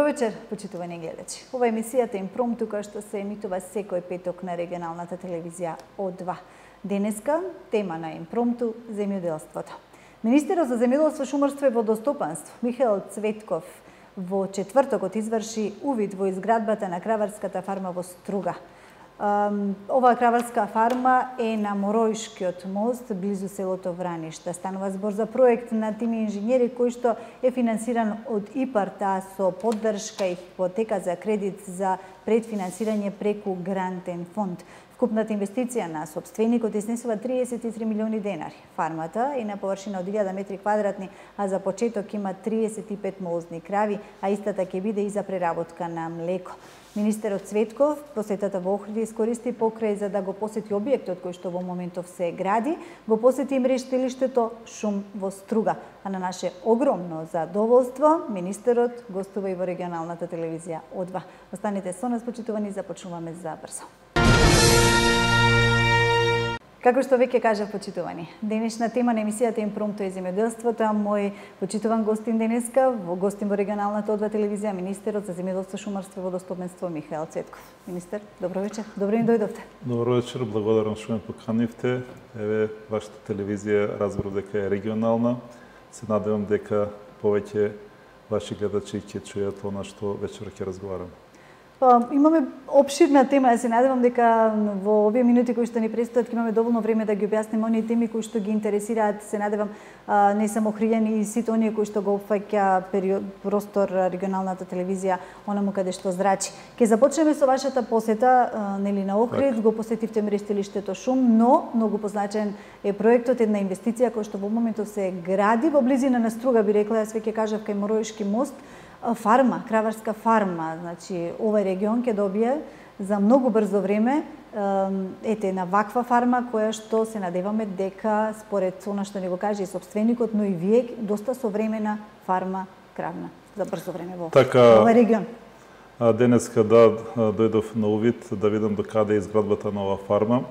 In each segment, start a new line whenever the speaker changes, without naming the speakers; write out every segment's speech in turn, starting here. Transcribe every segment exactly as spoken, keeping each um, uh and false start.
Добро вечер, почитувани гледачи. Ова е емисијата Импромту, која што се емитува секој петок на регионалната телевизија О два. Денеска тема на Импромту – земјоделството. Министерот за земјоделство, шумарство и водостопанство Михаел Цветков во четвртокот изврши увид во изградбата на краварската фарма во Струга. Оваа краварска фарма е на Моројшкиот мост, близу селото Враништа. Станува збор за проект на тими инженери кој што е финансиран од ИПАР-т, а со поддршка и хипотека за кредит за предфинансирање преку грантен фонд. Вкупната инвестиција на сопственикот изнесува триесет и три милиони денари. Фармата е на површина од илјада метри квадратни, а за почеток има триесет и пет молозни крави, а истата ќе биде и за преработка на млеко. Министерот Цветков посетата во Охрид искористи покрај за да го посети објектот кој што во моментов се гради, го посети и мрештилиштето Шум во Струга. А на наше огромно задоволство, министерот гостува и во регионалната телевизија О два. Останете со нас, почитувани, започнуваме за брзо. Како што веќе кажав, почитувани, денешна тема на емисијата Импромту е земјоделството, а мој почитуван гостин денеска, во гостин во регионалната О два телевизија, министерот за земјоделство, шумарство и водостопанство Михаел Цветков. Министер, добро вечер. Добро ни дојдовте.
Добро вечер, благодарам што ме поканивте. Еве, вашата телевизија разбрав дека е регионална. Се надевам дека повеќе ваши гледачи ќе чујат она што вечер ќе разговараме.
Па, имаме опширна тема, ја се надевам дека во овие минути кои што ни престојат ќе имаме доволно време да ги објасниме оние теми кои што ги интересираат, се надевам, не само охријани и сите оние кои што го опфаќа период, простор регионалната телевизија, онаму каде што зрачи. Ќе започнеме со вашата посета нели на Охрид, го посетивте мрештилиштето Шум, но многу позначен е проектот, една инвестиција која што во моментов се гради во близина на Струга, би рекла, јас веќе кажав, кај Моројшки мост. Фарма, краварска фарма, значи овој регион ќе добие за многу брзо време ете една ваква фарма која што се надеваме дека според она што ни го каже и сопственикот, но и вие доста современа фарма кравна за брзо време во
така,
овој регион.
Денеска да дојдов на увид да видам до каде е изградбата на оваа фарма.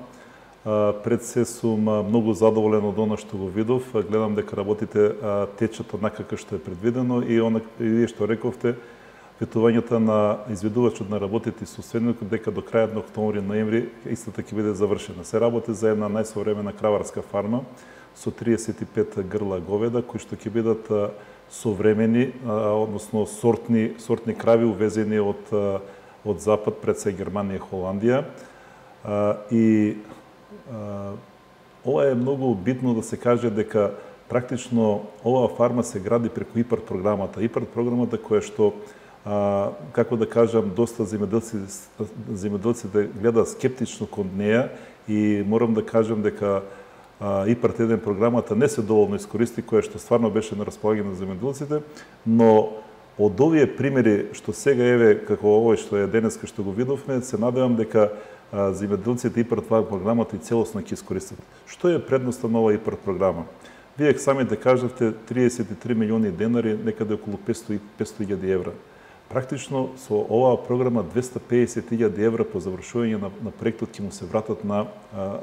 Пред се сум многу задоволен од она што го видов. Гледам дека работите течат однака како што е предвидено и она и вие што рековте, ветувањето на изведувачот на работите со сопственикот дека до крајот на октомври, ноември истата ќе биде завршена. Се работи за една најсовремена краварска фарма со триесет и пет грла говеда кои што ќе бидат современи, односно сортни сортни крави увезени од од запад, пред се Германија и Холандија. И ова е многу битно да се каже дека практично оваа фарма се гради преку ИПАР програмата. ИПАР програмата која што, а, како да кажам, доста земјоделци земјоделците гледаат скептично кон неа и морам да кажам дека а, ИПАР еден програмата не се доволно искористи, која што стварно беше на располагање на земјоделците, но од овие примери што сега еве како овој што е денеска што го видовме, се надевам дека земјоделците ИПАР това програмата и целосно ќе искористат. Што е предноста на оваа ИПАР програма? Вие самите кажавте триесет и три милиони денари, некаде околу петстотини илјади евра. Практично со оваа програма двесте и педесет илјади евра по завршување на, на проектот ќе му се вратат на,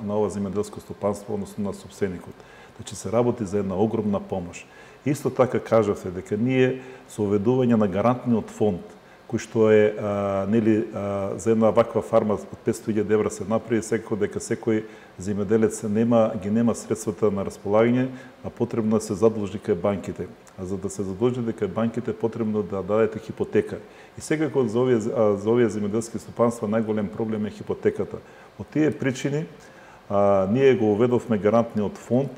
на ова земјоделско стопанство, односно на сопственикот. Значи се работи за една огромна помош. Исто така кажавте дека ние со уведување на гарантниот фонд кој што е а, нели а, за една ваква фарма од петстотини илјади евра се направи, секако дека секој земјоделец нема ги нема средствата на располагање, а потребно да се задолжи кај банките. А за да се задолжи кај банките потребно да дадете хипотека. И секако за овие за овие земјоделски стопанства најголем проблем е хипотеката. Од тие причини а, ние го уведовме гарантниот фонд,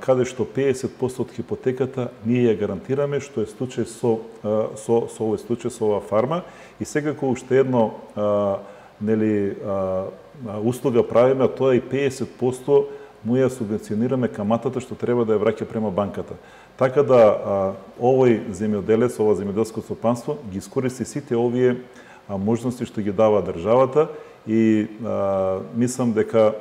каде што педесет проценти од хипотеката ние ја гарантираме, што е случај со со со овој случај со оваа фарма, и секако уште едно а, нели а, услуга правиме, а тоа е и педесет проценти му ја субвенционираме каматата што треба да ја враќа према банката. Така да а, овој земјоделец, ова земјоделско стопанство ги искористи сите овие а, можности што ги дава државата и а, мислам дека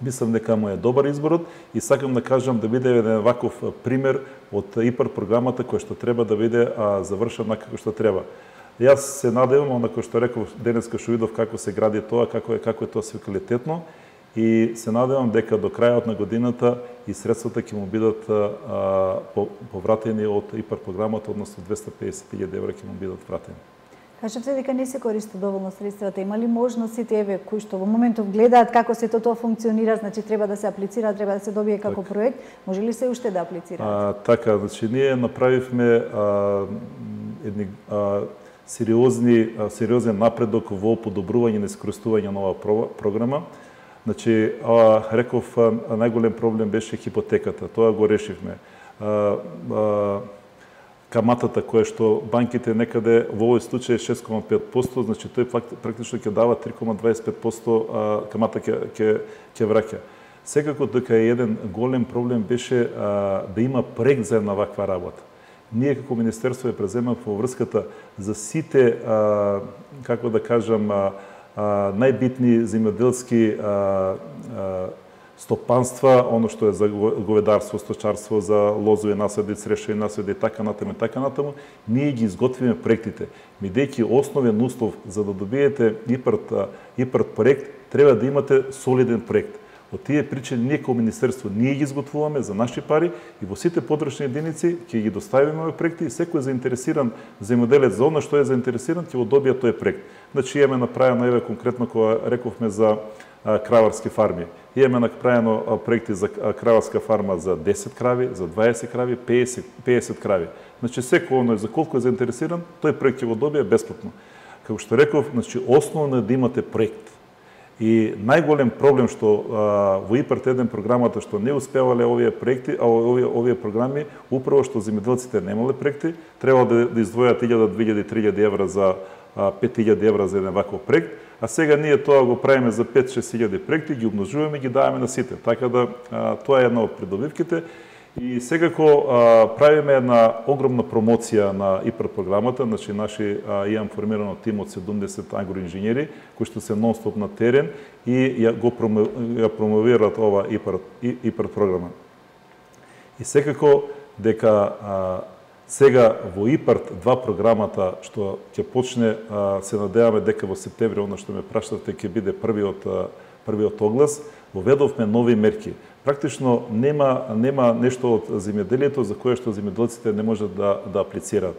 Мислам дека му е добар изборот и сакам да кажам да биде еден ваков пример од ИПАР програмата која што треба да биде а, завршена како што треба. Јас се надевам, онако што реков денеска што видов како се гради тоа, како е како е тоа се квалитетно и се надевам дека до крајот на годината и средствата ќе му бидат а, повратени од ИПАР програмата, односно двесте и педесет илјади евра ќе му бидат вратени.
Кажете дека не се користат доволно средствата. Има ли можност сите еве кои што во моментов гледаат како се тоа функционира, значи треба да се аплицира, треба да се добие како так. проект, може ли се уште да аплицираат?
А, така, значи ние направивме а, едни а, сериозни а, сериозен напредок во подобрување на искористување на оваа програма. Значи, а, реков, а, најголем проблем беше хипотеката. Тоа го решивме. А, а, каматата која што банките некаде во овој случај шест зарез и пет проценти, значи тој практично ќе дава три зарез и дваесет и пет проценти а, камата ќе ќе ќе враќа. Секако дека е еден голем проблем беше а, да има проект за една ваква работа. Ние како министерство ја преземаме во врската за сите а, како да кажам а, а, најбитни земјоделски а, а, стопанства, оно што е за говедарство, сточарство, за лозови насади, црешови насади, така натаму, така натаму, ние ги изготвиме проектите. Бидејќи основен услов за да добиете ИПАРТ, ИПАРТ проект, треба да имате солиден проект. Од тие причини ние како министерство ние ги изготвуваме за наши пари и во сите подрачни единици ќе ги доставиме овие проекти и секој заинтересиран земјоделец за она што е заинтересиран ќе го добие тој проект. Значи имаме направено еве конкретно кога рековме за краварски фарми. Имаме направено проекти за краварска фарма за десет крави, за дваесет крави, педесет, педесет крави. Значи секој оној за колку е заинтересиран, тој проект ќе го добие бесплатно. Како што реков, значи основно е да имате проект. И најголем проблем што а, во ИПАРТ еден програмата што не успевале овие проекти, а овие овие програми, управо што земјоделците немале проекти, требало да, да издвојат илјада, две илјади, три илјади евра за а, пет илјади евра за еден ваков проект, а сега ние тоа го правиме за пет-шест илјади проекти, ги умножуваме и ги даваме на сите. Така да а, тоа е една од придобивките. И секако а, правиме една огромна промоција на ИПАРТ програмата, значи наши а, имам формирано тим од седумдесет агроинженери кои што се нон-стоп на терен и ја го промо, ја промовираат ова ИПАРТ, ИПАРТ програма. И секако дека а, сега во ИПАРТ два програмата што ќе почне, а, се надеваме дека во септември, она што ме прашавте, ќе биде првиот првиот оглас, воведовме нови мерки. Практично нема нема нешто од земјоделието за кое што земјоделците не можат да да аплицираат.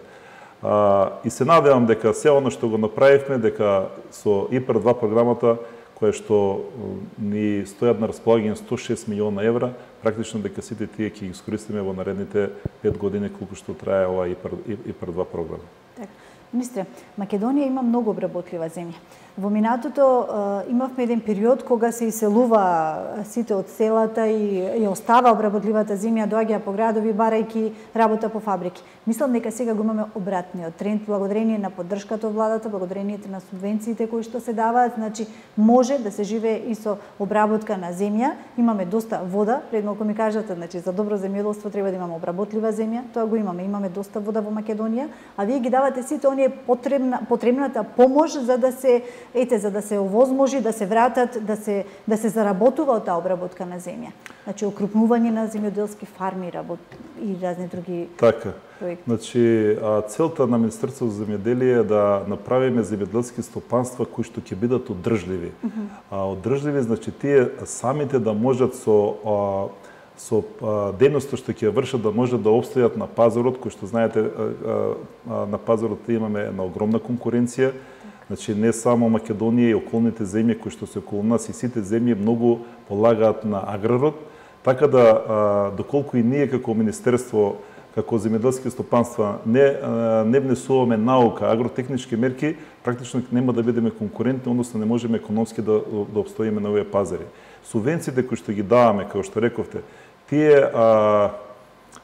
А, и се надевам дека се оно што го направивме, дека со ИПАРТ два програмата која што ни стојат на располагање сто и шест милиона евра, практично дека сите тие ќе ги искористиме во наредните пет години колку што трае ова ИПАРТ два програма.
Така. Министре, Македонија има многу обработлива земја. Во минатото е, имавме еден период кога се иселува сите од селата и ја остава обработливата земја, доаѓа по градови барајки работа по фабрики. Мислам дека сега го имаме обратниот тренд, благодарение на поддршката од владата, благодарение на субвенциите кои што се даваат, значи може да се живее и со обработка на земја. Имаме доста вода, пред малку ми кажате, значи за добро земјоделство треба да имаме обработлива земја, тоа го имаме, имаме доста вода во Македонија, а вие ги давате сите оние потребна потребната помош за да се ете за да се овозможи да се вратат, да се да се заработува од таа обработка на земја. Значи окрупнување на земјоделски фарми работ и разни други
така.
проекти.
Значи целта на Министерството за земјоделие е да направиме земјоделски стопанства кои што ќе бидат одржливи. Mm -hmm. А одржливи значи тие самите да можат со а, со дејноста што ќе вршат да можат да обстојат на пазарот, кој што знаете на пазарот имаме една огромна конкуренција. Значи не само Македонија и околните земји кои што се околу нас и сите земји многу полагаат на аграрот, така да доколку и ние како министерство, како земјоделски стопанства не не внесуваме наука, агротехнички мерки, практично нема да бидеме конкурентни, односно не можеме економски да да обстоиме на овие пазари. Субвенциите кои што ги даваме, како што рековте, тие а,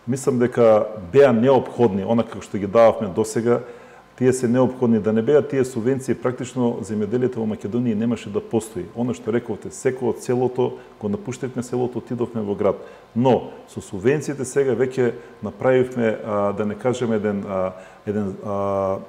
мислам дека беа неопходни, она како што ги дававме досега, тие се неопходни. Да не беа тие субвенции, практично земјоделието во Македонија немаше да постои. Она што рековте, секој од селото го напуштивме селото, отидовме во град. Но со субвенциите сега веќе направивме, а, да не кажеме еден а, еден а,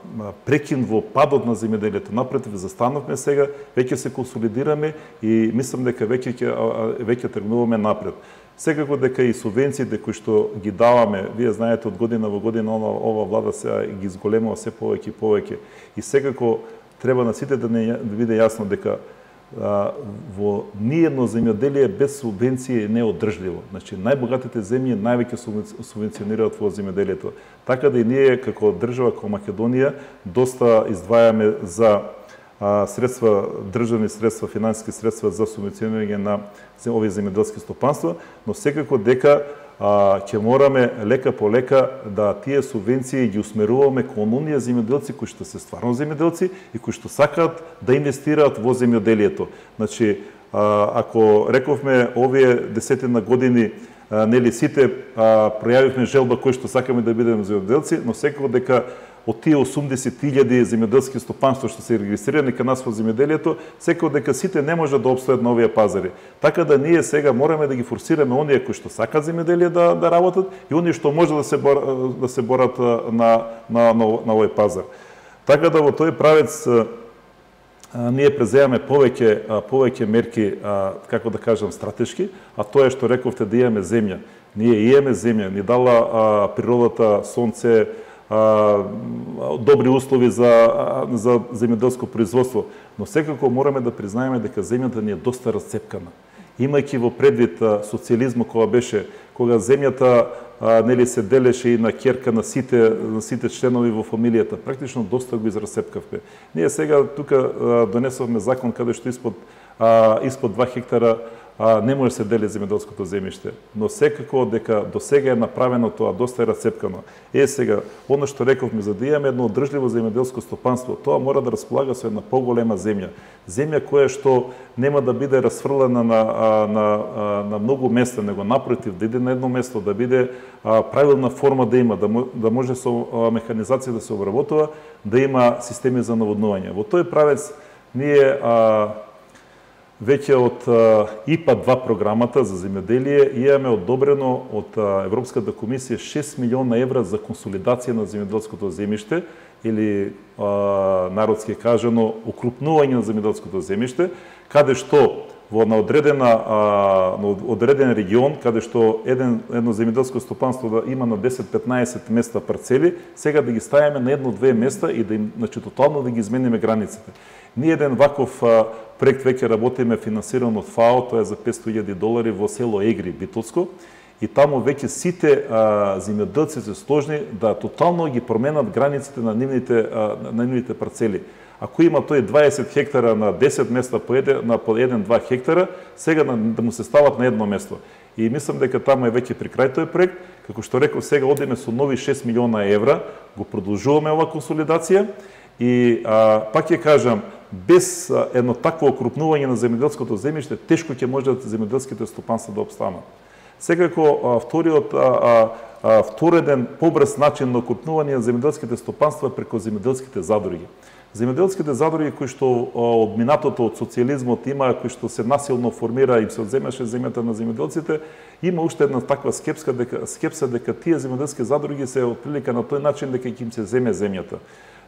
прекин во падот на земјоделието. Напротив, застанавме сега, веќе се консолидираме и мислам дека веќе ќе веќе тргнуваме напред. Секако дека и субвенциите кои што ги даваме, вие знаете од година во година ова, ова влада се ги зголемува се повеќе и повеќе. И секако треба на сите да не да биде јасно дека во ниедно земјоделие без субвенции не е одржливо. Значи, најбогатите земји највеќе субвенционираат во земјоделието. Така да и ние, како држава, како Македонија, доста издвајаме за средства, државни средства, финансиски средства за субвенционирање на овие земјоделски стопанства, но секако дека ќе мораме лека по лека да тие субвенции ги усмеруваме кон оние земјоделци кои што се стварно земјоделци и кои што сакаат да инвестираат во земјоделието. Значи, ако рековме овие десетина години, нели сите пројавивме желба кои што сакаме да бидеме земјоделци, но секако дека од тие осумдесет илјади земјоделски стопанства што се регистрирани кај нас во земјоделието, секако дека сите не може да обстојат на овие пазари. Така да ние сега мораме да ги форсираме оние кои што сакаат земјоделие да да работат и оние што може да се бор, да се борат на на на, на овој пазар. Така да во тој правец а, ние преземаме повеќе а, повеќе мерки, а, како да кажам, стратешки, а тоа е што рековте да имаме земја. Ние имаме земја, ни дала а, природата, сонце, добри услови за за земјоделско производство, но секако мораме да признаеме дека земјата ни е доста расцепкана. Имајќи во предвид социјализмот кога беше, кога земјата нели се делеше и на ќерка на сите на сите членови во фамилијата, практично доста го израсцепкавме. Ние сега тука донесовме закон каде што испод испод два хектара а, не може се дели земјоделското земјиште, но секако дека до сега е направено тоа, доста е расцепкано. Е сега, оно што рековме, за да имаме едно одржливо земјоделско стопанство, тоа мора да располага со една поголема земја. Земја која што нема да биде расфрлена на, на, на, на многу места, него напротив, да иде на едно место, да биде а, правилна форма да има, да, да може со а, механизација да се обработува, да има системи за наводнување. Во тој правец ние а, веќе од И П А два програмата за земјоделие имаме одобрено од Европската комисија шест милиона евра за консолидација на земјоделското земјиште или народски кажано укрупнување на земјоделското земјиште, каде што во на одредена на одреден регион, каде што еден едно земјоделско стопанство да има на десет-петнаесет места парцели, сега да ги ставиме на едно-две места и да им, значи, тотално да ги измениме границите. Ние еден ваков а, проект веќе работиме финансиран од ФАО, тоа е за петстотини илјади долари во село Егри, Битолско, и таму веќе сите а, земјоделци се сложни да тотално ги променат границите на нивните а, на нивните парцели. Ако има тој дваесет хектара на десет места по еден на по еден-два хектара, сега да, да му се стават на едно место. И мислам дека таму е веќе при крај тој проект, како што реков, сега одиме со нови шест милиона евра, го продолжуваме ова консолидација и а, пак ќе кажам, без а, едно такво окрупнување на земјоделското земјиште, тешко ќе можат земјоделските стопанства да опстанат. Секако а, вториот а, а, втореден побрз начин на окрупнување на земјоделските стопанства е преку земјоделските задруги. Земјоделските задруги кои што од минатото од социјализмот има, кои што се насилно формира и се одземаше земјата на земјоделците, има уште една таква скепска дека скепса дека тие земјоделски задруги се отприлика на тој начин дека ќе им се земе земјата.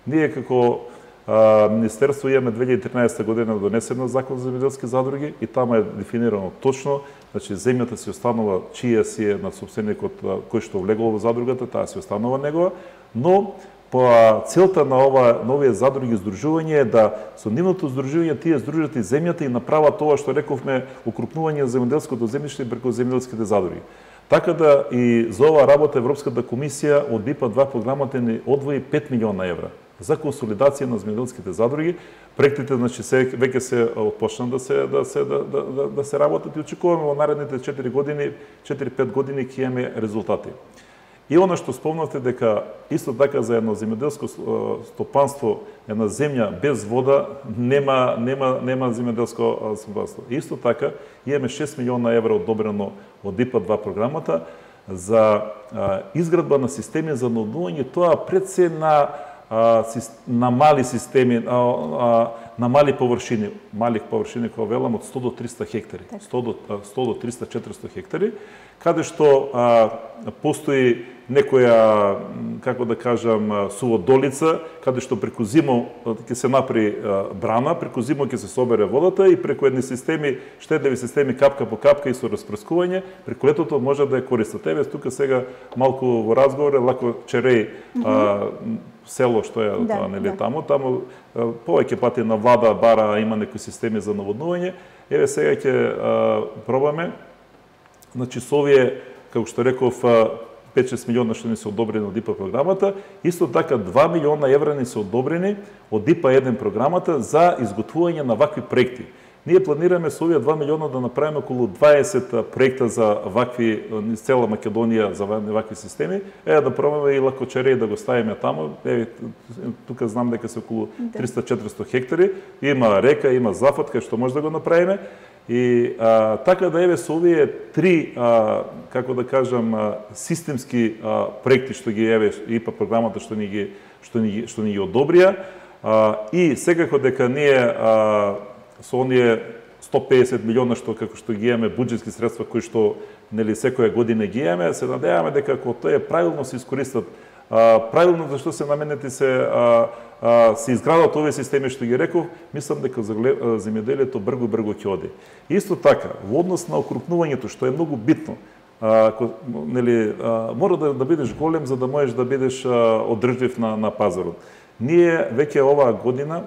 Ние како а, Министерство имаме две илјади и тринаесета година донесено закон за земјоделски задруги и тamo е дефинирано точно, значи земјата си останува чија си е на собственикот кој што влегол во задругата, таа си останува негова, но по целта на ова новие задруги здружување е да со нивното здружување тие здружат и земјата и направат тоа што рековме укрупнување на земјоделското земјиште преку земјоделските задруги. Така да и за оваа работа Европската комисија од И П А два програмата ни одвои пет милиона евра за консолидација на земјоделските задруги. Проектите, значи, се веќе се отпочна да се да се да, да, да, да се работат и очекуваме во наредните четири години, четири-пет години ќе имаме резултати. И она што спомнавте дека исто така за едно земјоделско стопанство, една земја без вода нема нема нема земјоделско стопанство. Исто така имаме шест милиона евра одобрено од И П А два програмата за а, изградба на системи за наводнување, тоа пред се на а, на мали системи, а, а, на мали површини, мали површини кога велам од сто до триста хектари, сто до триста-четиристо хектари, каде што а, постои некоја, како да кажам, суводолица, каде што преку зимо ќе се направи брана, преку зимо ќе се собере водата и преку едни системи, штедливи системи капка по капка и со распрскување, преку летото може да ја користат. Еве тука сега малку во разговор, лако Череј, mm -hmm. село што е да, нели да. таму, таму повеќе пати на влада бара има некои системи за наводнување. Еве сега ќе пробаме, значи со овие, како што реков, пет-шест милиона што ни се одобрени од ИПА програмата, исто така два милиона евра ни се одобрени од ИПА еден програмата за изготвување на вакви проекти. Ние планираме со овие два милиона да направиме околу дваесет проекта за вакви, низ цела Македонија, за вакви системи. Е, да пробаме и лако Череј да го ставиме таму. Е, тука знам дека се околу триста-четиристо хектари. Има река, има зафат, кај што може да го направиме. И а, така да еве со овие три, а, како да кажам, а, системски а, проекти што ги еве ИПА програмата што ни ги што ни што ни ги одобрија, а, и секако дека ние а, со оние сто педесет милиона што како што ги имаме буџетски средства кои што нели секоја година ги имаме, се надеваме дека ако тоа правилно се искористат, а, правилно зашто се наменети се а, а, се изградат овие системи што ги реков, мислам дека земјоделието бргу бргу ќе оди. Исто така, во однос на окрупнувањето што е многу битно, а, нели а, мора да, да бидеш голем за да можеш да бидеш а, одржлив на на пазарот. Ние веќе оваа година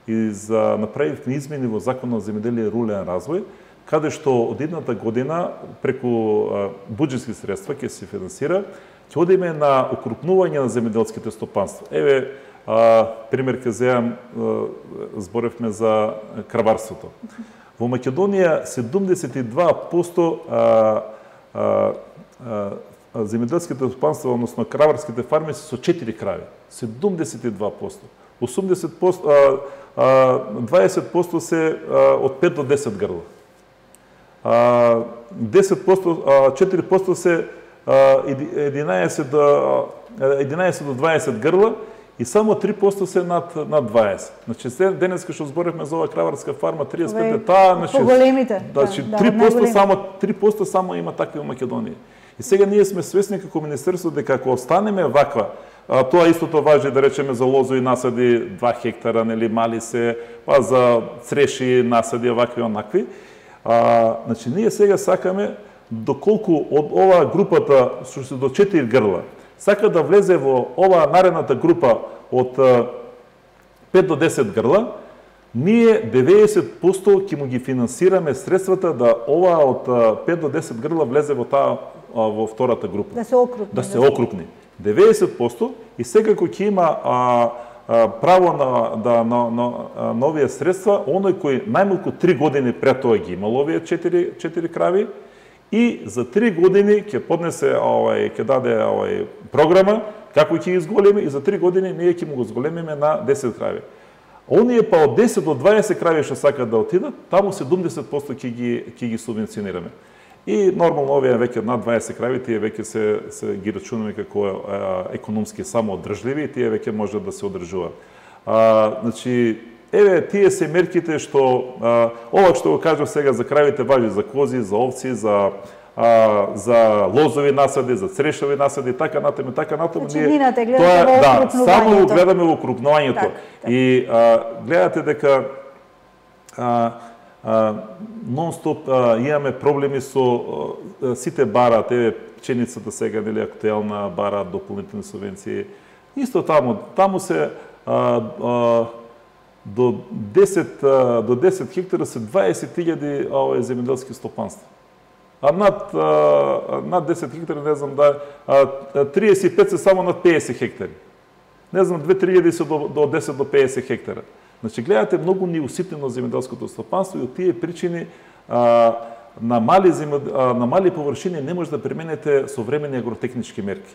и за направивме измени во Законот за земјоделие и рурален развој, каде што од едната година преку буџетски средства ќе се финансира, ќе одиме на окрупнување на земјоделските стопанства. Еве, а, пример ќе земам, зборевме за краварството. Во Македонија седумдесет и два проценти а, а, а, земјоделските стопанства, односно краварските фарми се со четири крави. седумдесет и два проценти. осумдесет проценти, дваесет проценти се од пет до десет грла. десет проценти, четири проценти се единаесет до дваесет грла и само три проценти се над над дваесет. Значи денеска што зборевме за оваа краварска фарма триесет и пет, таа значи
поголемите.
Значи три проценти само три проценти само има такви во Македонија. И сега ние сме свесни како министерство дека ако останеме ваква, а, тоа истото важи да речеме за лозови насади два хектара, нели мали се, па за цреши насади вакви онакви. А, значи ние сега сакаме доколку од оваа групата што се до четири грла сака да влезе во оваа наредната група од пет до десет грла, ние деветдесет проценти ќе му ги финансираме средствата да оваа од пет до десет грла влезе во таа во втората група.
Да се окрупни.
Да се окрупни. деветдесет проценти и секако ќе има а, а, право на да на, на, на овие средства оној кој најмалку три години пред тоа ги имал овие четири четири крави и за три години ќе поднесе овај ќе даде овај програма како ќе ги изголеми и за три години ние ќе му го зголемиме на десет крави. Оние па од десет до дваесет крави што сакаат да отидат, таму седумдесет проценти ќе ги ќе ги субвенционираме. И нормално овие веќе над дваесет крави тие веќе се се ги рачунаме како а, економски самоодржливи и тие веќе може да се одржуваат. А, значи еве тие се мерките што а, ова што го кажав сега за кравите важи за кози, за овци, за а, за лозови насади, за црешови насади, така натаму, така натаму.
Значи, ние тоа
да, само го гледаме во окрупнувањето. Так, так. И а, гледате дека а, нон-стоп имаме проблеми со а, сите бараат, еве пченицата сега нели актуелна бараат дополнителни субвенции. Исто таму, таму се а, а, до десет а, до десет хектара се дваесет илјади овие земјоделски стопанства. А над а, над десет хектари не знам да а, триесет и пет се само над педесет хектари. Не знам две-три илјади се до, до десет до педесет хектара. Значи, гледате многу неуситнено земјоделското стопанство и од тие причини а, на, мали земјод... а, на мали површини не може да применете современи агротехнички мерки.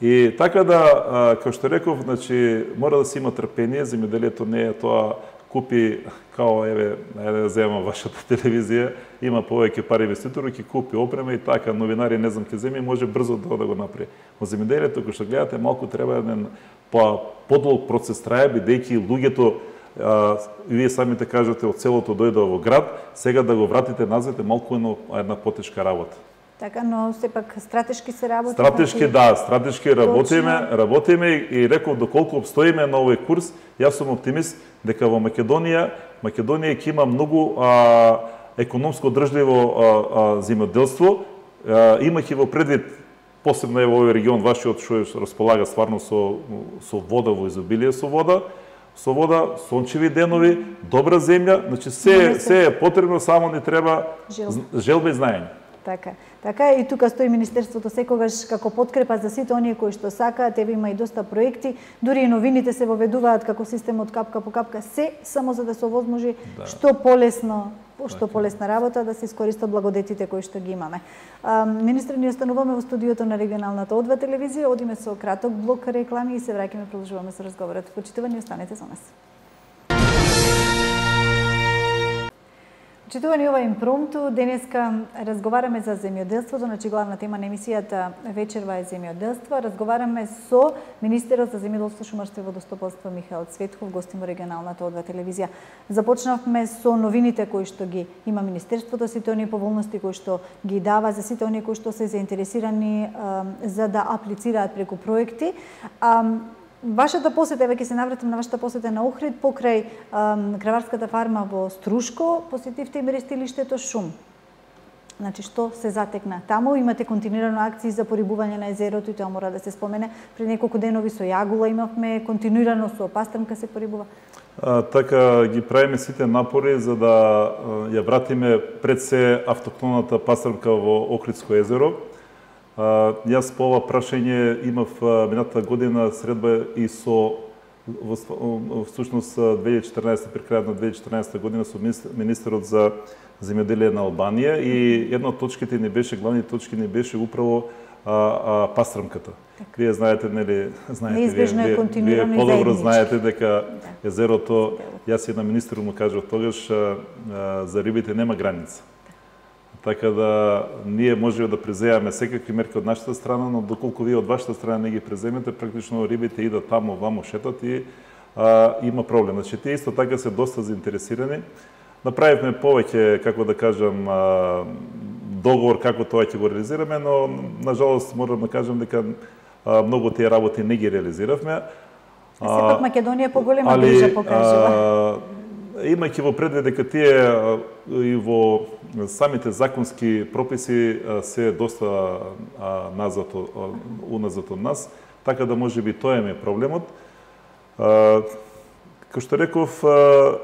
И така да, а, како што реков, значи, мора да се има трпение, земјоделието не е тоа купи, као, еве, најде да земам вашата телевизија, има повеќе пари инвеститори, ќе купи опрема и така, новинари не знам ќе земи, може брзо да, да го направи. Во земјоделието, кој што гледате, малку треба еден подолг процес трае, бидејќи луѓето, а, вие самите кажете, од селото дојдоа во град, сега да го вратите назад е малку една, една потешка работа.
Така, но сепак стратешки се работи.
Стратешки, да, стратешки работиме, работиме и реков доколку обстоиме на овој курс, јас сум оптимист дека во Македонија, Македонија ќе има многу а, економско држливо а, а, земјоделство, имајќи во предвид посебно е во овој регион вашиот што располага стварно со со вода во изобилие со вода, со вода, сончеви денови, добра земја, значи се се е потребно, само ни треба желба и знаење.
Така. Така и тука стои Министерството секогаш како подкрепа за сите оние кои што сакаат, еве има и доста проекти, дури и новините се воведуваат како системот капка по капка, се само за да се овозможи да. што полесно што полесна работа да се искористат благодетите кои што ги имаме. А, министр, ни остануваме во студиото на регионалната О два телевизија, одиме со краток блок реклами и се враќаме, продолжуваме со разговорот. Почитувани, останете со нас. Почитувани, ова импромту, денеска разговараме за земјоделството, значи главна тема на емисијата вечерва е земјоделство. Разговараме со министерот за земјоделство, шумарство и водостопанство Михаел Цветков, гостин во регионалната О два телевизија. Започнавме со новините кои што ги има министерството, сите оние поволности кои што ги дава за сите оние кои што се заинтересирани а, за да аплицираат преку проекти. А, Вашата посета, еве ќе се навратам на вашата посета на Охрид, покрај ам, краварската фарма во Струшко, посетивте и мерестилиштето Шум. Значи, што се затекна таму? Имате континуирано акции за порибување на езерото и тоа мора да се спомене. Пред неколку денови со јагула имавме, континуирано со пастрмка се порибува.
А, така, ги правиме сите напори за да а, ја вратиме пред се автохтоната пастрмка во Охридско езеро. Uh, јас по ова прашање имав uh, минатата година средба и со во, во всушност две илјади и четрнаесета, при крајот на две илјади и четрнаесета година со министерот за земјоделие на Албанија и една од точките не беше, главните точки не беше управо а, а, пастрмката. Так. Вие знаете, нели, знаете,
неизбежно
вие,
е континуирано
вие подобро знаете дека
да.
езерото, јас и на министерот му кажав тогаш, а, а, за рибите нема граница. Така да ние можеме да преземаме секакви мерки од нашата страна, но доколку вие од вашата страна не ги преземете, практично рибите идат таму, ваму шетат и а, има проблем. Значи, тие исто така се доста заинтересирани. Направивме повеќе, како да кажам, а, договор како тоа ќе го реализираме, но на жалост морам да кажам дека а, многу тие работи не ги реализиравме.
Сепак Македонија поголема грижа покажува.
Имајќи во предвид дека тие и во самите законски прописи се доста назад, уназад од нас, така да може би тоа е проблемот. Како што реков,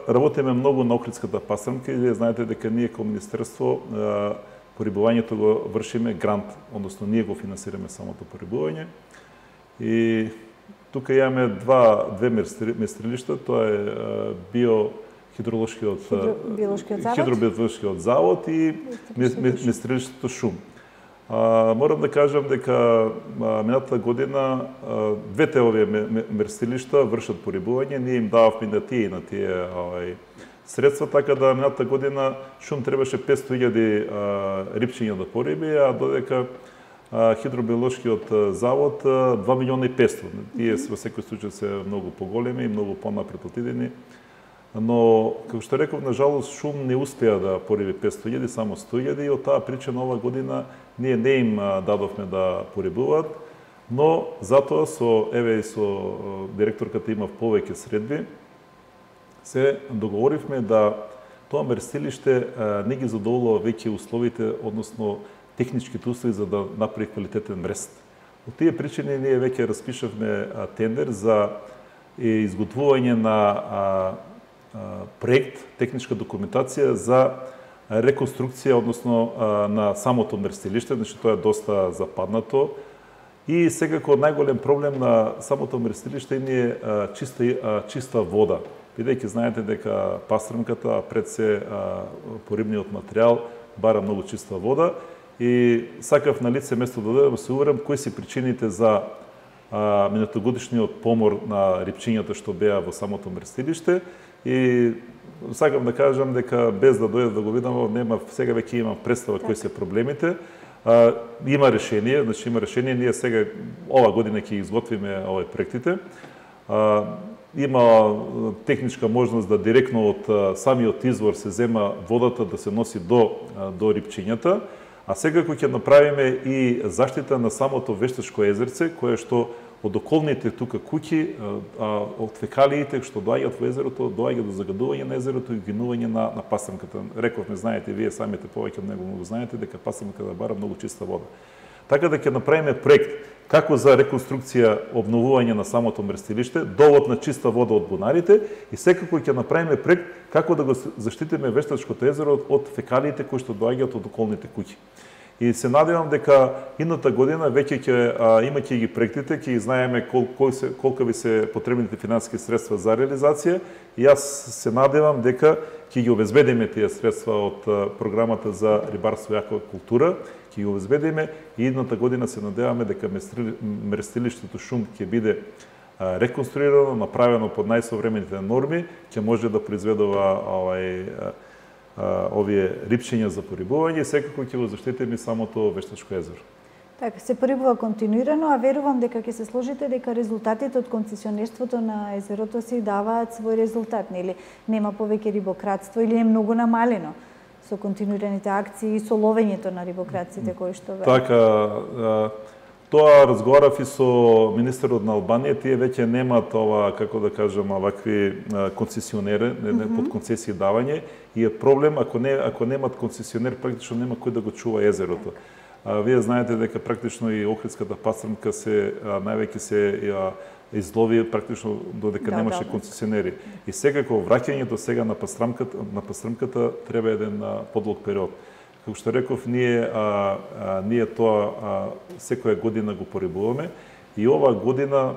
работиме многу на Охридската пастрмка и знаете дека ние како министерство порибувањето го вршиме грант, односно ние го финансираме самото порибување. И тука имаме два две местрилишта, тоа е био хидроложкиот хидробиолошкиот завод и местрилиштето Шум. А, морам да кажам дека минатата година а, двете овие местрилишта вршат порибување, ние им дававме на тие и на тие овај средства, така да минатата година Шум требаше петсто илјади рибчиња да пориби, а додека а, хидробиолошкиот завод два милиона и петсто. Тие во секој случај се многу поголеми и многу понапред отидени. Но, како што реков, на жалост, Шум не успеа да пориби петсто илјади, само сто илјади, и од таа причина ова година ние не им дадовме да порибуваат, но затоа со, еве и со директорката имав повеќе средби, се договоривме да тоа мерстилиште не ги задоволува веќе условите, односно техничките услови за да направи квалитетен мрест. Од тие причини ние веќе распишавме тендер за изготвување на проект, техничка документација за реконструкција, односно на самото мерстилиште, значи тоа е доста западнато. И секако најголем проблем на самото мерстилиште е чиста, чиста вода. Бидејќи знаете дека пастрмката, пред се порибниот материјал, бара многу чиста вода и сакав на лице место да дадам, се уверам кои се причините за минатогодишниот помор на рибчињата што беа во самото мерстилиште. И сакам да кажам дека без да дојдам да го видам, нема, сега веќе имам представа кои се проблемите. А, има решение, значи има решение, ние сега ова година ќе изготвиме овој проектите. А, има техничка можност да директно од самиот извор се зема водата да се носи до до рибчињата, А секако ќе направиме и заштита на самото Вештачко езерце, кое што од околните тука куќи, од фекалиите што доаѓаат во езерото, доаѓа до загадување на езерото и гинување на, на пастрмката. Рековме, знаете, вие самите повеќе од него многу знаете, дека пастрмката бара многу чиста вода. Така да ќе направиме проект како за реконструкција, обновување на самото мрестилиште, довод на чиста вода од бунарите и секако ќе направиме проект како да го заштитиме Вештачкото езеро од фекалиите кои што доаѓаат од околните куќи. И се надевам дека идната година веќе ќе имајќи ги проектите, ќе знаеме кол, кол се, колка ви се потребните финансиски средства за реализација и јас се надевам дека ќе ги обезбедиме тие средства од програмата за рибарство и аквакултура, ќе ги обезбедиме и идната година се надеваме дека мрестилиштето Шум ќе биде реконструирано, направено под најсовремените норми, ќе може да произведува овај овие рибчиња за порибување и секако ќе го заштитиме самото Вештачко езеро.
Така, се порибува континуирано, а верувам дека ќе се сложите дека резултатите од концесионерството на езерото си даваат свој резултат, нели? Нема повеќе рибократство или е многу намалено со континуираните акции и со ловењето на рибократците кои што ве.
Така, тоа разговарав и со министерот на Албанија, тие веќе немаат ова, како да кажам, вакви концесионери, не, не, под концесија давање, и е проблем ако не ако немаат концесионер, практично нема кој да го чува езерото. А, вие знаете дека практично и охридската пастрмка се највеќе се а, излови практично додека да, немаше да, концесионери. И секако враќањето сега на пастрмката на пастрмката треба еден подлог период. Како што реков, ние а, а, ние тоа а, секоја година го порибуваме и оваа година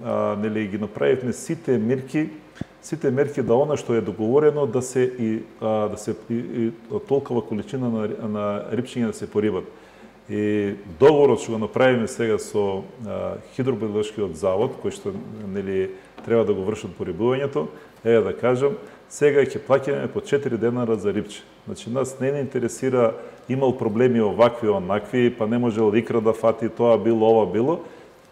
а, нели ги направивме сите мерки, сите мерки да она што е договорено да се и а, да се и, и толкова количина на, на рибчиња да се порибат. И договорот што го направиме сега со а, хидробиолошкиот завод, кој што нели треба да го вршат порибувањето, е да кажам, сега ќе плаќаме по четири денара за рибче. Значи нас не не интересира имал проблеми овакви онакви, па не можел икра да фати, тоа било, ова било.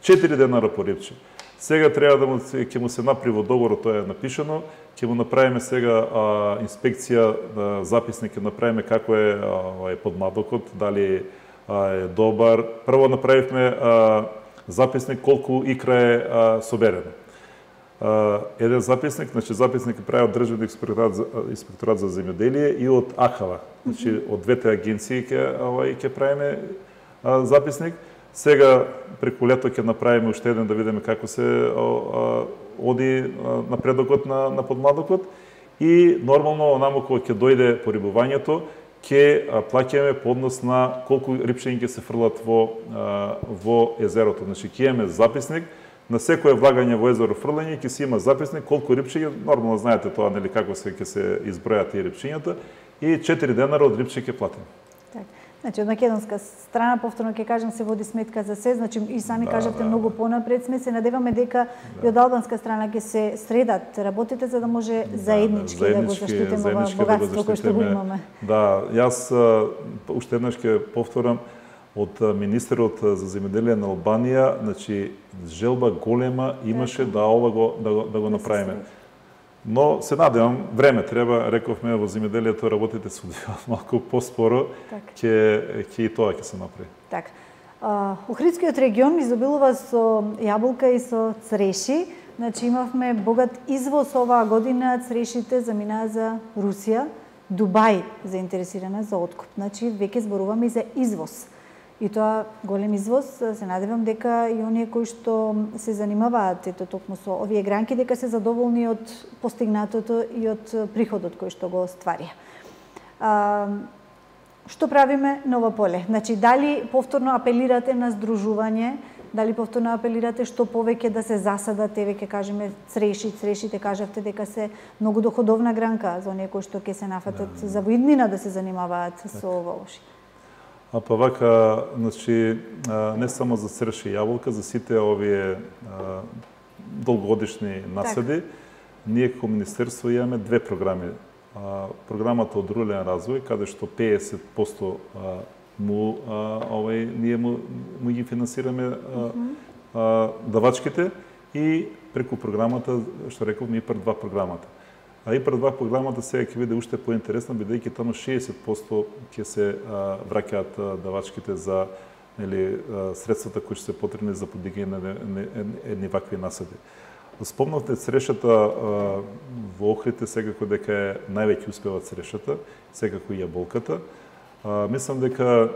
четири денара по рибче. Сега треба да му ќе му се направи во договорот, тоа е напишано, ќе му направиме сега а, инспекција, а, записник ќе направиме како е а, подмадокот, дали а, е добар. Прво направивме а, записник колку икра е а, соберено. Uh, еден записник, значи записник е прави од Државниот инспекторат за, инспекторат за земјоделие и од АХАВА. Значи mm -hmm. од двете агенции ќе овај ќе правиме а, записник. Сега преку лето ќе направиме уште еден да видиме како се а, оди а, напредокот на на подмладокот и нормално онамо кога ќе дојде порибувањето ќе плаќаме по однос на колку рибчиња ќе се фрлат во а, во езерото. Значи ќе имаме записник на секое влагање во езеро фрлање ќе си има записник колку рибчиња, нормално знаете тоа нели како се ќе се избројат тие рибчињата и четири денара од рибче ќе платиме.
Така. Значи од македонска страна повторно ќе кажам се води сметка за се, значи и сами да, кажавте да, многу понапред сме, се надеваме дека да. И од албанска страна ќе се средат работите за да може да, заеднички да, да го заштитиме ова богатство кое што го имаме. Да,
јас уште еднаш ќе повторам од министерот за земјоделие на Албанија, значи желба голема имаше да ова го да го, да го направиме. Но се надевам, време треба, рековме во земјоделието работите се одвиваат малку поспоро, ќе ќе и тоа ќе се направи.
Така. Охридскиот регион изобилува со јаболка и со цреши. Значи имавме богат извоз оваа година, црешите заминаа за Русија, Дубај заинтересирана за откуп. Значи веќе зборуваме и за извоз. И тоа голем извоз, се надевам дека и оние кои што се занимаваат ето токму со овие гранки дека се задоволни од постигнатото и од приходот кој што го стварија. А, што правиме на ова поле? Значи дали повторно апелирате на здружување, дали повторно апелирате што повеќе да се засадат, еве ќе кажеме цреши, црешите кажавте дека се многу доходовна гранка за оние кои што ќе се нафатат да, за во иднина да се занимаваат так со ова уши.
А па вака, значи, не само за цреш и јаболка, за сите овие а, долгогодишни насади, так. Ние како Министерство имаме две програми. А, програмата од рурален развој, каде што петдесет проценти а, му, а, овај, ние му, му ги финансираме а, mm -hmm. а, давачките и преку програмата, што реков, ми ИПАР два програмата. А ИПАР два програмата сега ќе биде уште поинтересна, бидејќи таму шеесет проценти ќе се а, враќаат давачките за нели средствата кои ќе се потребни за подигање на едни вакви насади. Спомнавте црешата а, во Охридте, секако дека е највеќе успева црешата, секако и јаболката. А, мислам дека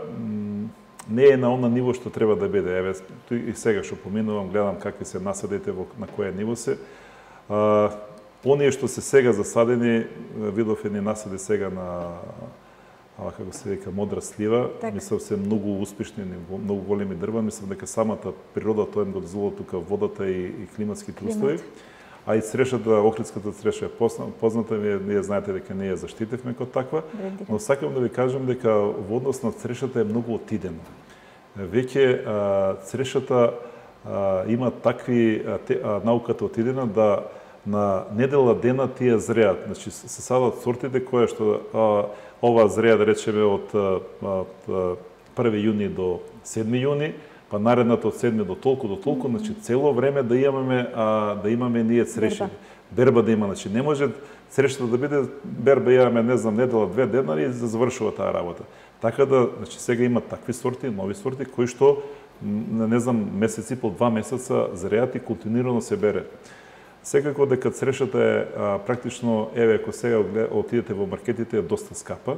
не е на она ниво што треба да биде. Еве и сега што поминувам, гледам какви се насадите, во, на кое ниво се. А, оние што се сега засадени, видов едни насади сега на а, како се вика модра слива, так. Мислам се многу успешни, многу големи дрва, мислам дека самата природа тоа им го дозволува тука водата и, и климатските услови. А и црешата, Охридската цреша е позната, вие, вие знаете дека не ја заштитивме како таква, но сакам да ви кажам дека во однос на црешата е многу отидена. Веќе црешата а, има такви, а, те, а, науката отидена да на недела дена тие зреат. Значи се садат сортите кои што а, ова зреа да речеме од, од први јуни до седми јуни, па наредната од седми до толку до толку, значи цело време да имаме а, да имаме ние цреши. Берба. Берба да има, значи не може црешата да биде берба имаме не знам недела две денари и да завршува таа работа. Така да, значи сега има такви сорти, нови сорти кои што не знам месеци по два месеца зреат и континуирано се бере. Секако дека црешата е а, практично, еве, ако сега отидете во маркетите, е доста скапа.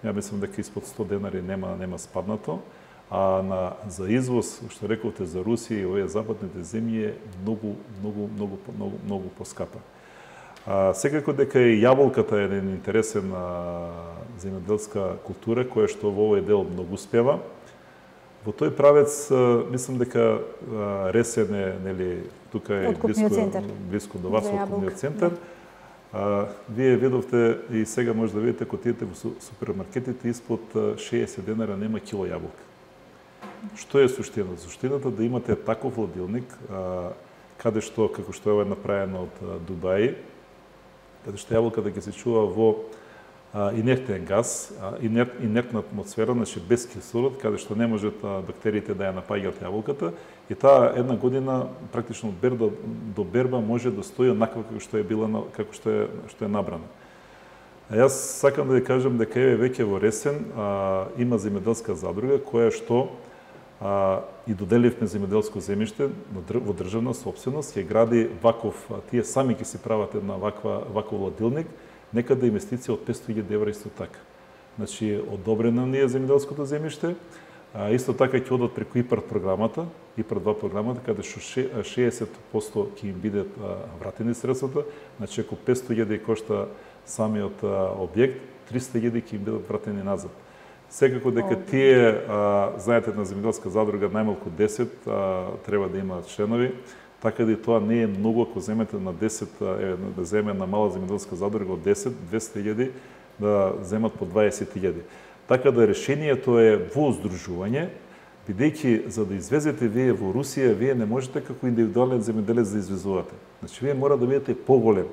Ја мислам дека испод сто денари нема нема спаднато, а на за извоз, што рековте за Русија и овие западните земји е многу многу многу многу многу поскапа. А, секако дека и јаболката е еден интересен а, земјоделска култура која што во овој дел многу успева. Во тој правец мислам дека Ресен е, нели, тука е близко, близко до вас, откупниот центар. А, вие видовте и сега може да видите кога отидете во супермаркетите испод шеесет денара нема кило јаболка. Што е суштина? Суштината да имате таков хладилник, а, каде што, како што е направено од Дубај, каде што јаболката ќе се чува во а, инертен газ, а, инерт, инертна атмосфера, значи без кислород, каде што не можат а, бактериите да ја напаѓаат јаболката, и таа една година практично од берба до берба може да стои онаква како што е била, како што е што е набрана. А јас сакам да ви кажам дека еве веќе во Ресен а, има земјоделска задруга која што а, и доделивме земјоделско земјиште во државна сопственост, ќе гради ваков, тие сами ќе си прават една ваква ваков хладилник, некаде инвестиција од петстотини илјади евра исто така. Значи одобрено ни е земјоделското земјиште, а, исто така ќе одат преку ИПАР програмата, ИПАР два програмата, каде што шеесет проценти ќе им бидат вратени средствата, значи ако петстотини илјади кошта самиот а, објект, триста илјади ќе им бидат вратени назад. Секако дека тие, а, знаете, на земјоделска задруга најмалку десет а, треба да имаат членови, така да и тоа не е многу ако земете на десет, е, да земе на мала земјоделска задруга од десет, двесте илјади, да земат по дваесет илјади. Така да решението е во здружување, бидејќи за да извезете вие во Русија, вие не можете како индивидуален земјоделец да извезувате. Значи вие мора да бидете поголем.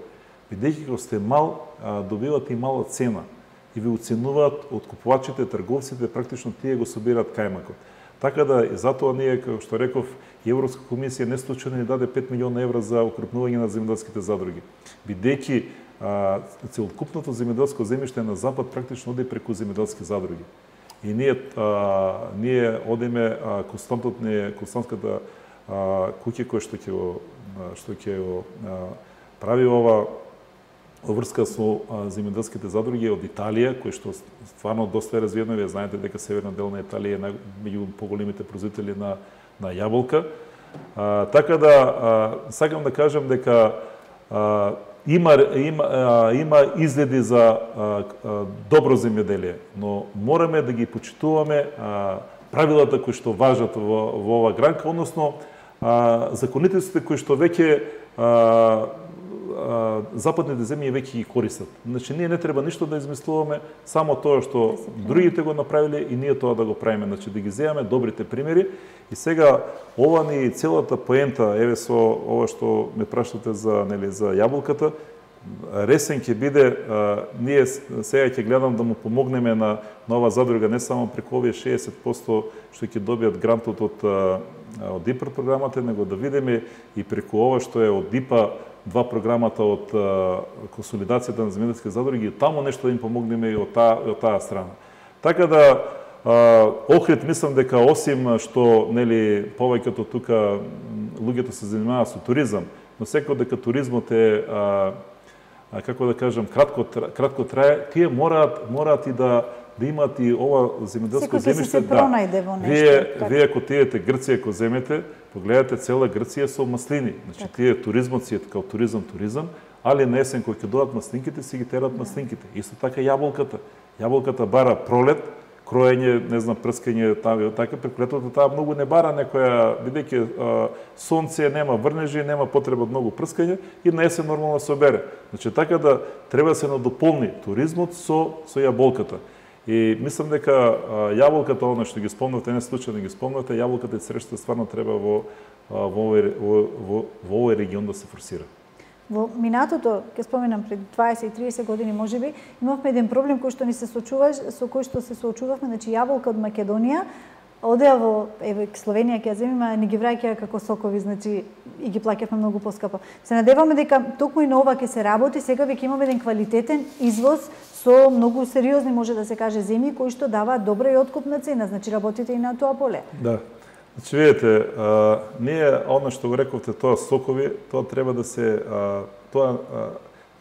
Бидејќи кога сте мал, добивате и мала цена и ви оценуваат откупувачите, трговците, практично тие го собираат кајмакот. Така да и затоа ние, како што реков, и Европска комисија не случајно ни даде пет милиона евра за укрупнување на земјоделските задруги. Бидејќи целокупното земјоделско земјиште на запад практично оди преку земјоделски задруги. И ние а, ние одиме а, константот не константката куќа која што ќе го што ќе го прави ова врска со земјоделските задруги од Италија, кои што стварно доста е развиено. Вие знаете дека северна дел на Италија е меѓу поголемите производители на на јаболка. А, така да а, сакам да кажам дека а, има има а, има изгледи за а, а, добро земјоделие, но мораме да ги почитуваме а, правилата кои што важат во во ова гранка, односно а, законитетите кои што веќе а, западните земји веќе ги користат. Значи ние не треба ништо да измислуваме, само тоа што другите го направиле и ние тоа да го правиме, значи да ги земеме добрите примери. И сега ова ни целата поента, еве со ова што ме прашате за нели за јаболката, Ресен ќе биде, а, ние сега ќе гледам да му помогнеме на нова задруга не само преку овие шеесет проценти што ќе добијат грантот од од ИПАР програмата, него да видиме и преку ова што е од ИПА два програмата од консолидацијата на земјоделски задруги, таму нешто да им помогнеме и од таа, од таа страна. Така да Охрид мислам дека осим што нели повеќето тука луѓето се занимаваат со туризам, но секој дека туризмот е а, а, како да кажам кратко кратко трае, тие мораат мораат и да да имаат и ова земјоделско земјиште.
Да.
Вие вие ако отидете Грција, ако земете, погледате цела Грција со маслини. Значи так. Тие туризмот си е како туризам туризам, али на есен кога ќе дојдат маслинките, си ги терат маслинките. Исто така јаболката. Јаболката бара пролет, кроење, не знам, прскање, така, преку летото таа многу не бара некоја, бидејќи сонце, нема врнежи, нема потреба многу прскање и на есен нормално се обере. Значи така да треба да се надополни туризмот со со јаболката. И мислам дека јаболката, она што ги спомнавте, не случајно ги спомнавте, јаболката и црешата стварно треба во во овој во, во, во овој регион да се форсира.
Во минатото, ќе споменам пред дваесет и триесет години можеби, имавме еден проблем кој што ни се соочуваш, со кој што се соочувавме, значи јаболка од Македонија одеа во еве Словенија ќе ја земиме, ни ги враќаа како сокови, значи и ги плаќавме многу поскапо. Се надеваме дека токму и на ова ќе се работи, сега веќе имаме еден квалитетен извоз со многу сериозни, може да се каже, земји кои што даваат добра и откупна цена, значи работите и на тоа поле.
Да. Значи, видите, а, ние, оно што го рековте, тоа сокови, тоа треба да се, а, тоа а,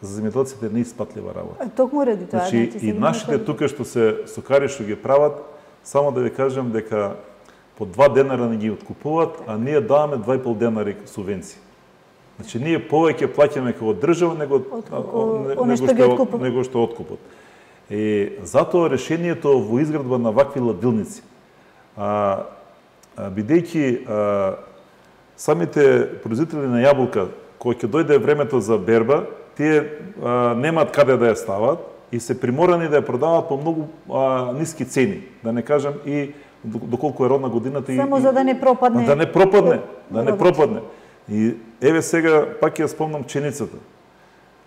за земјоделците не испатлива работа.
Токму ради тоа.
Значи, значи и нашите тука што се сокари што ги прават, само да ви кажам дека по два денара не ги откупуваат, а ние даваме два и пол денари субвенции. Значи, ние повеќе плаќаме како држава него, него, што, него што откупот. И затоа решението во изградба на вакви ладилници, а, а, бидејќи а, самите производители на јаболка, кои ќе дојде времето за берба, тие а, немаат каде да ја стават и се приморани да ја продаваат по многу а, ниски цени, да не кажам и доколку е родна годината.
Само
и,
за да не пропадне.
Да не пропадне, да не пропадне. И еве сега пак ја спомнам пченицата.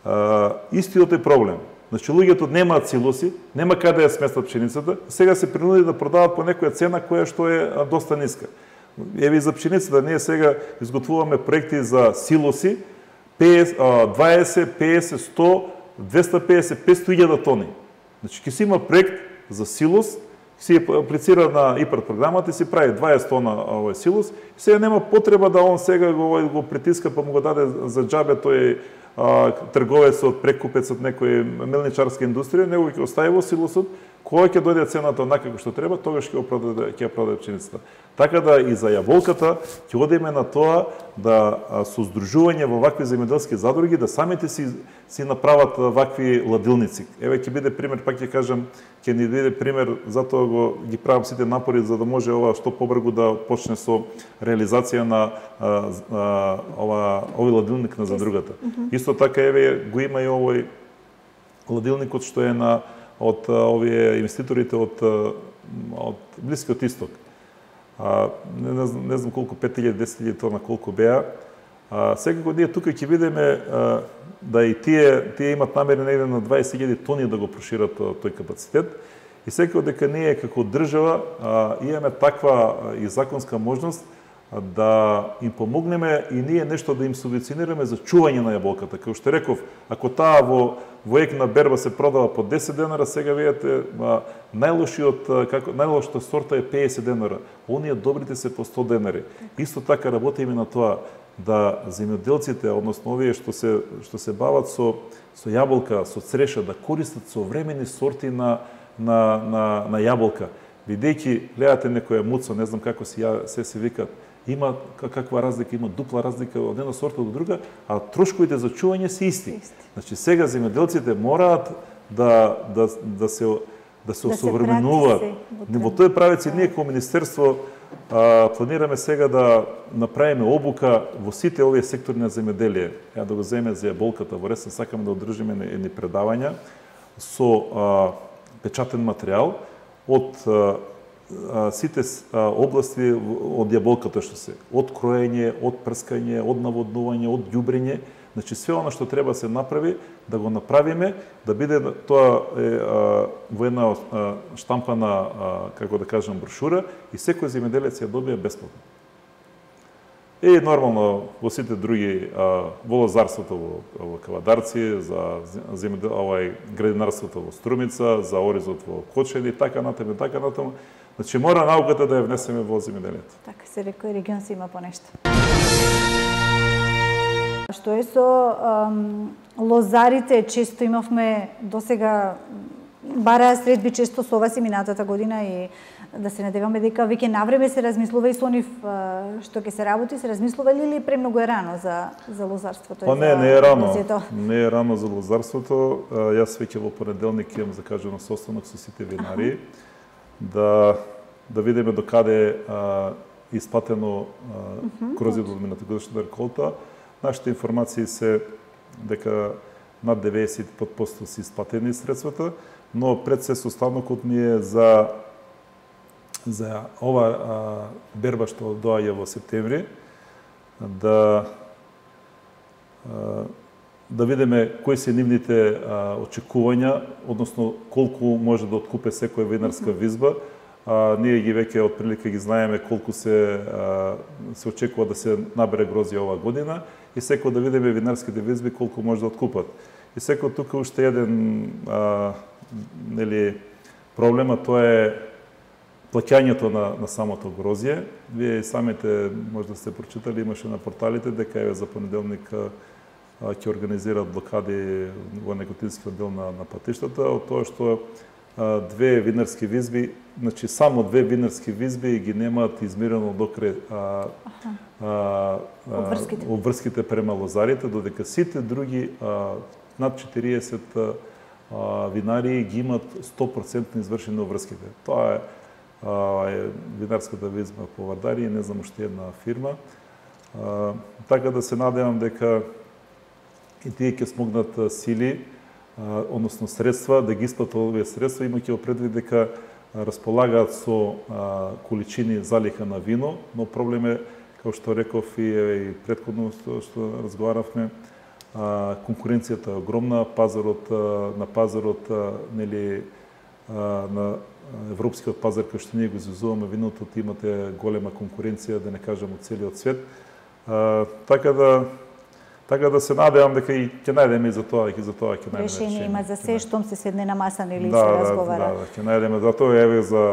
А, истиот е проблем. Значи луѓето немаат силоси, нема каде да ја сместат пченицата, сега се принуди да продават по некоја цена која што е а, доста ниска. Еве и за пченицата ние сега изготвуваме проекти за силоси дваесет, песет, сто, двеста и песет, петстотини илјади тони. Значи ќе си има проект за силос, си аплицира на ИПАРД програмата и си прави дваесет тона овој силос. И сега нема потреба да он сега го, го притиска па му го даде за џабе тој а, трговецот, прекупецот некој мелничарска индустрија, него ќе остави во силосот, кога ќе дојде цената онака како што треба, тогаш ќе го продаде, ќе ја продаде пченицата. Така да и за јаболката ќе одиме на тоа да со здружување во вакви земјоделски задруги да самите си си направат вакви ладилници. Еве ќе биде пример, пак ќе кажам, ќе ни биде пример, затоа го ги правам сите напори за да може ова што побрзо да почне со реализација на а, а, ова овој ладилник на задругата. Mm-hmm. Исто така еве го има и овој ладилникот што е на од овие инвеститорите од од Блискиот Исток. А, не, не, знам, не знам колку, пет илјади, десет илјади тона колку беа. А, секако ние тука ќе видиме а, да и тие тие имат намери негде на дваесет илјади тони да го прошират тој капацитет. И секако дека ние како држава а, имаме таква а, и законска можност а, да им помогнеме и ние нешто да им субвенционираме за чување на јаболката. Како што реков, ако таа во во ек на берба се продава по десет денара, сега видите најлошиот како најлошата сорта е песет денара. Оние добрите се по сто денари. Исто така работиме на тоа да земјоделците, односно овие што се што се бават со со јаболка, со цреша, да користат современи сорти на на на на јаболка. Бидејќи гледате некоја муцо, не знам како си ја се се викат, има каква разлика, има дупла разлика од една сорта до друга, а трошковите за чување се исти. Значи сега земјоделците мораат да да да се да се осовременуваат. Во тој правец и ние како министерство а, планираме сега да направиме обука во сите овие сектори на земјоделие. Ја да го земеме за јаболката во Ресен, сакаме да одржиме едни предавања со а, печатен материјал од а, сите области од јаболката што се, од кроење, од прскање, од наводнување, од ѓубрење, значи све она што треба се направи, да го направиме, да биде тоа е а, во една а, штампана, а, како да кажам, брошура и секој земјоделец ја добија бесплатно. И нормално во сите други, а, во лозарството во, во Кавадарци, за земјодел, овај градинарството во Струмица, за оризот во Кочени, така натаму, така натаму. Значи мора науката да ја внесеме во земјоделието.
Така се рекој, регион се има по нешто. Што е со ам, лозарите? Често имавме досега бараа средби често со вас и минатата година и да се надеваме дека веќе навреме се размислува и со нив што ќе се работи, се размислува или премногу е рано за за лозарството?
Па не, не е рано. Не е рано за лозарството. Јас веќе во понеделник имам закажано состанок со сите винари да да видиме докаде а, исплатено грозјето од минатогодишната реколта. Нашите информации се дека над деветдесет и пет проценти се исплатени средствата, но пред се состанокот ни е за за ова а, берба што доаѓа во септември, да а, да видиме кои се нивните а, очекувања, односно колку може да откупе секоја винарска визба. А, ние ги веќе од прилика ги знаеме колку се а, се очекува да се набере грозје оваа година и секој да видиме винарските визби колку може да откупат. И секој тука уште еден а, нели проблема, тоа е плаќањето на, на самото грозје. Вие самите може да сте прочитали, имаше на порталите дека е за понеделник ќе организираат блокади во Неготинскиот дел на, на патиштата, од тоа што а, две винарски визби, значи само две винарски визби ги немаат измерено докрај а, а,
обврските.
обврските према лозарите, додека сите други а, над четириесет а, винари ги имат сто проценти извршени обврските. Тоа е е винарската визба по Вардари и не знам уште една фирма. А, така да се надевам дека и тие ќе смогнат сили, а, односно средства, да ги исплатат овие средства, имајќи во предвид дека располагаат со а, количини залиха на вино, но проблем е, како што реков и, и претходно што, што разговаравме, а, конкуренцијата е огромна, пазарот а, на пазарот а, нели а, на европскиот пазар кој што ние го изузуваме виното, имате голема конкуренција, да не кажам од целиот свет. А, така да така да се надевам дека и ќе најдеме и за тоа, и за тоа ќе најдеме решение.
Решение има за се, штом се седне на маса или
да,
се разговара.
Да, да, ќе најдеме. Затоа еве за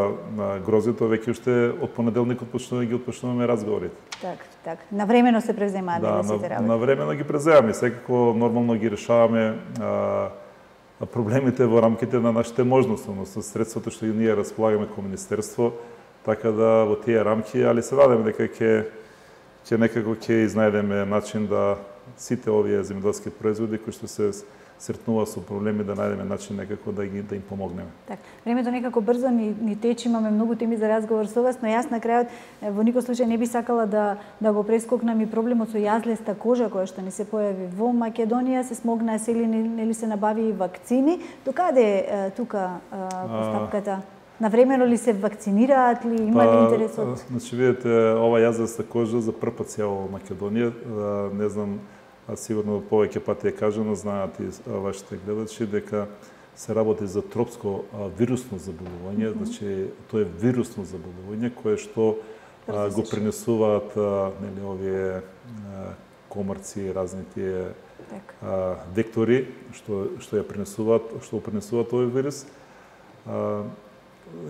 грозјето веќе уште од понеделникот почнуваме ги отпочнуваме разговорите.
Така, така. Навремено се преземаат
да,
сите работи.
навремено ги преземаме, секако нормално ги решаваме а, проблемите во рамките на нашите можности, односно средствата што ние располагаме како министерство, така да во тие рамки, али се надеваме дека ќе ќе некако ќе изнајдеме начин да сите овие земјоделски производи кои што се сретнува со проблеми, да најдеме начин некако да ги да им помогнеме.
Така, времето некако брзо ни, ни тече, имаме многу теми за разговор со вас, но јас на крајот во никој случај не би сакала да да го прескокнам и проблемот со јазлеста кожа која што ни се појави во Македонија, се смогнаа сели нели се набави и вакцини. Докаде е тука постапката? Навремено ли се вакцинираат ли, има ли интерес од?
Значи видите, ова јазлеста кожа за прв пат се јавува во Македонија, не знам, а сигурно повеќе пати е кажано, знаат и вашите гледачи, дека се работи за тропско а, вирусно заболување, mm -hmm. значи тоа е вирусно заболување кое што а, го пренесуваат а, нели овие а, комарци, разни тие а, вектори што што ја пренесуваат, што го пренесуваат овој вирус. А,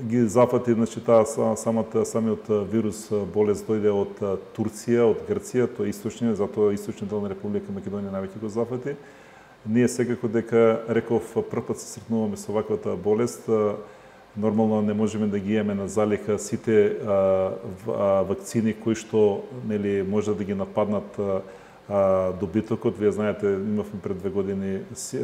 ги зафати, значи таа самата самиот вирус болест дојде од Турција, од Грција, тоа е источниот, затоа источниот дел на Република Македонија највеќе го зафати. Ние секако дека реков прв пат се сретнуваме со ваквата болест, нормално не можеме да ги имаме на залиха сите а, а, вакцини кои што нели може да ги нападнат а, добитокот. Вие знаете, имавме пред две години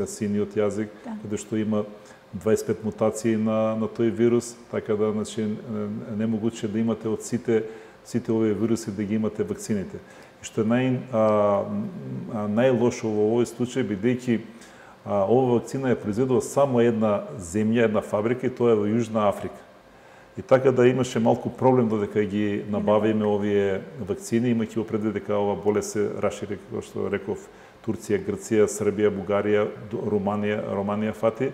синиот јазик, да. Каде што има дваесет и пет мутации на на тој вирус, така да значи не могуче да имате од сите сите овие вируси да ги имате вакцините. И што е нај а, најлошо во овој случај, бидејќи ова вакцина е произведува само една земја, една фабрика, и тоа е во Јужна Африка. И така да имаше малку проблем додека ги набавиме овие вакцини, имајќи во предвид дека ова болест се рашири, како што реков, Турција, Грција, Србија, Бугарија, Руманија, Романија фати.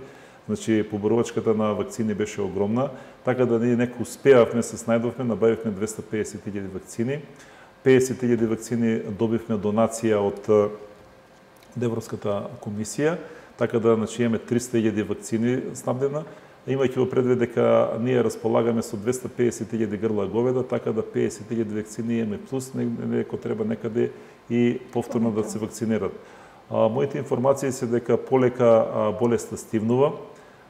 Значи, поборувачката на вакцини беше огромна, така да ние некој успеавме, се снајдовме, набавивме двесте и педесет илјади вакцини. педесет илјади вакцини добивме донација од Европската комисија, така да значи имаме триста илјади вакцини снабдена, имајќи во предвид дека ние располагаме со двесте педесет илјади грла говеда, така да педесет илјади вакцини имаме плюс, неко треба некаде и повторно да се вакцинират. А, моите информации се дека полека а, болеста стивнува,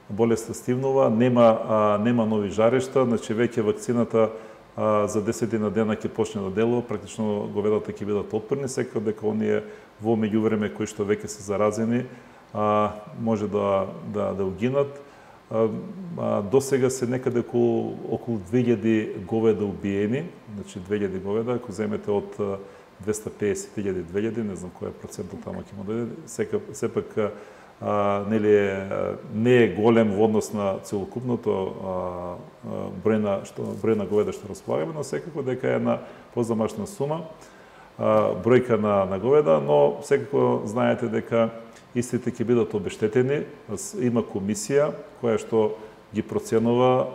болеста стивнува, нема а, нема нови жарешта, значи веќе вакцината а, за десет на дена ќе почне да делува, практично говедата ќе бидат отпорни, секако дека оние во меѓувреме кои што веќе се заразени, а, може да да да угинат. А, а, до сега се некаде околу околу две илјади говеда убиени, значи две илјади говеда, ако земете од двесте педесет илјади две илјади, не знам кој е процентот таму ќе му дојде, сека сепак а, нели е, не е голем во однос на целокупното а, број на што број на говеда што располагаме, но секако дека е една позамашна сума, а, бројка на на говеда, но секако знаете дека истите ќе бидат обештетени. Има комисија која што ги проценува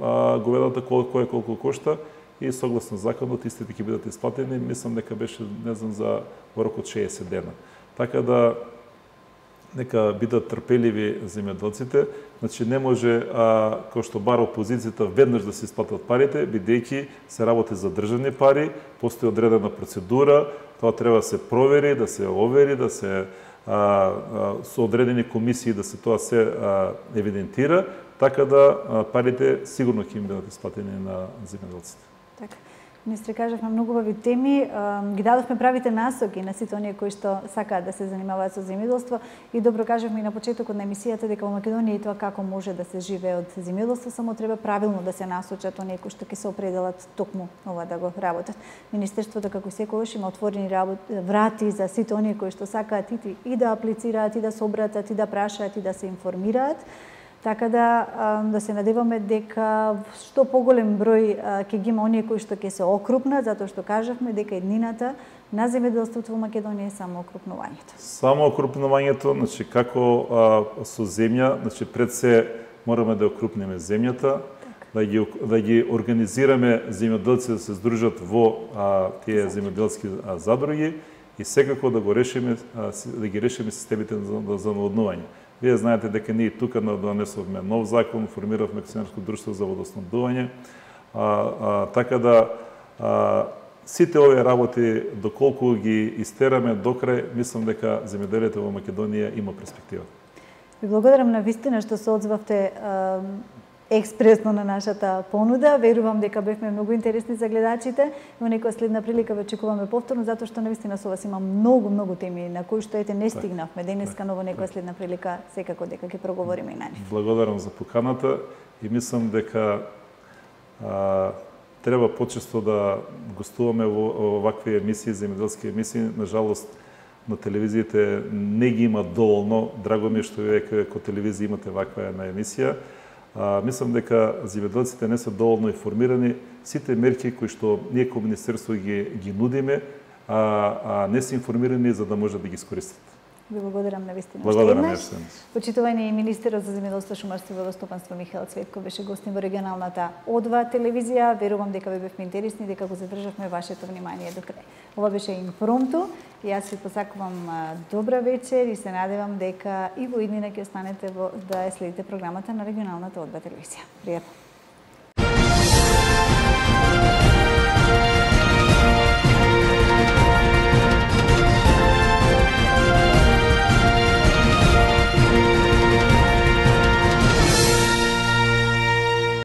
а, говедата колку е колку кошта и согласно законот истите ќе бидат исплатени. Мислам дека беше, не знам, за во рок од шеесет дена. Така да нека бидат трпеливи земјоделците. Значи не може, а, кој што бара опозицијата, веднаш да се исплатат парите, бидејќи се работи за државни пари, постои одредена процедура, тоа треба да се провери, да се овери, да се А, а, со одредени комисии да се тоа се а, евидентира, така да а, парите сигурно ќе им бидат исплатени на земјоделците.
Така. Министре, кажавме многу убави теми, ги дадовме правите насоки на сите оние кои што сакаат да се занимаваат со земјоделство и добро кажавме и на почетокот на емисијата дека во Македонија и тоа како може да се живее од земјоделство, само треба правилно да се насочат оние кои што ќе се определат токму ова да го работат. Министерството како секогаш има отворени врати за сите оние кои што сакаат и, и да аплицираат, и да се обратат, и да прашаат, и да се информираат. Така да да се надеваме дека што поголем број ќе ги има оние кои што ќе се окрупнат, затоа што кажавме дека еднината на земјоделството во Македонија е само окрупнувањето.
Само окрупнувањето, значи како а, со земја, значи пред се мораме да окрупниме земјата, да ги да ги организираме земјоделци да се здружат во а, тие земјоделски задруги и секако да го решиме а, да ги решиме системите за, за наводнување. Вие знаете дека ние тука донесовме нов закон, формиравме акционерско друштво за водоснабдување, а, а, така да а, сите овие работи, доколку ги истераме до крај, мислам дека земјоделието во Македонија има перспектива.
Ви благодарам на вистина што се одзвавте експресно на нашата понуда. Верувам дека бевме многу интересни за гледачите. Во некоја следна прилика ве очекуваме повторно, затоа што навистина со вас има многу, многу теми на кои што ете не стигнавме денеска, но во некоја следна прилика секако дека ќе проговориме и на нив.
Благодарам за поканата и мислам дека а, треба почесто да гостуваме во овакви емисии, земјоделски емисии. На жалост, на телевизиите не ги има доволно. Драго ми е што вие како телевизија имате ваква една емисија. А, мислам дека земјоделците не се доволно информирани. Сите мерки кои што ние како министерство ги, ги нудиме, а, а не се информирани за да може да ги искористат.
Ви благодарам на вистина.
Благодарам.
Почитувани министерот за земјоделство, шумарство и водостопанство Михаел Цветков беше гостин во регионалната О два телевизија. Верувам дека ви бевме интересни, дека го задржавме вашето внимание до крај. Ова беше Импромту и јас ви посакувам добра вечер и се надевам дека и во иднина ќе останете во, да ја следите програмата на регионалната О два телевизија. Пријатно.